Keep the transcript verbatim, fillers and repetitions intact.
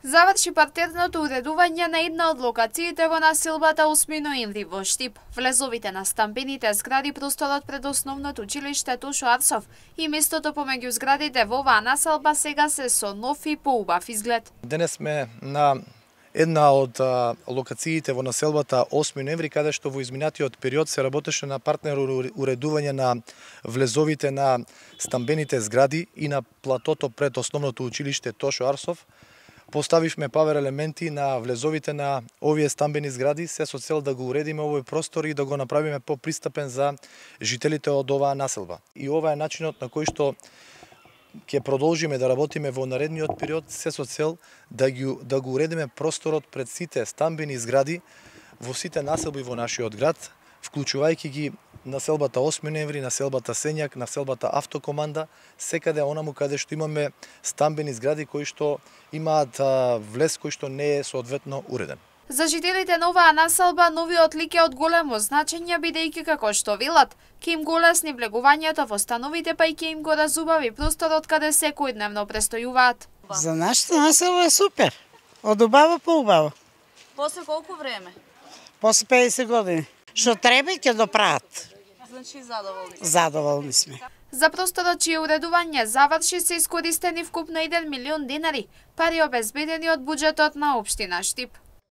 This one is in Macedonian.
Заврши партерното уредување на една од локациите во населбата осми ноември во Штип. Влезовите на стамбените згради, просторот пред основното училиште Тошо Арсов и местото помеѓу зградите во оваа населба сега се со нов и поубав изглед. Денес сме на една од а, локациите во населбата осми ноември, каде што во изминатиот период се работеше на партнерно уредување на влезовите на стамбените згради и на платото пред основното училиште Тошо Арсов. Поставивме павер елементи на влезовите на овие стамбени згради, се со цел да го уредиме овој простор и да го направиме попристапен за жителите од оваа населба. И ова е начинот на кој што ќе продолжиме да работиме во наредниот период, се со цел да, ги, да го уредиме просторот пред сите стамбени згради во сите населби во нашиот град, вклучувајќи ги населбата осми ноември, населбата Сењак, населбата Автокоманда, секаде онаму каде што имаме стамбени згради кои што имаат а, влез кој што не е соодветно уреден. За жителите на оваа населба новиот лик е од големо значење, бидејќи како што велат, ќе им го олесни влегувањето во становите, па и ќе им го разубави просторот каде секојдневно престојуваат. За нашата населба е супер. Од убаво по убаво. После колку време? После педесет години. Што треба ќе доправат. Значи задоволни. Задоволни сме. За просторот чие уредување заврши се искористени вкупно еден милион денари, пари обезбедени од буџетот на општина Штип.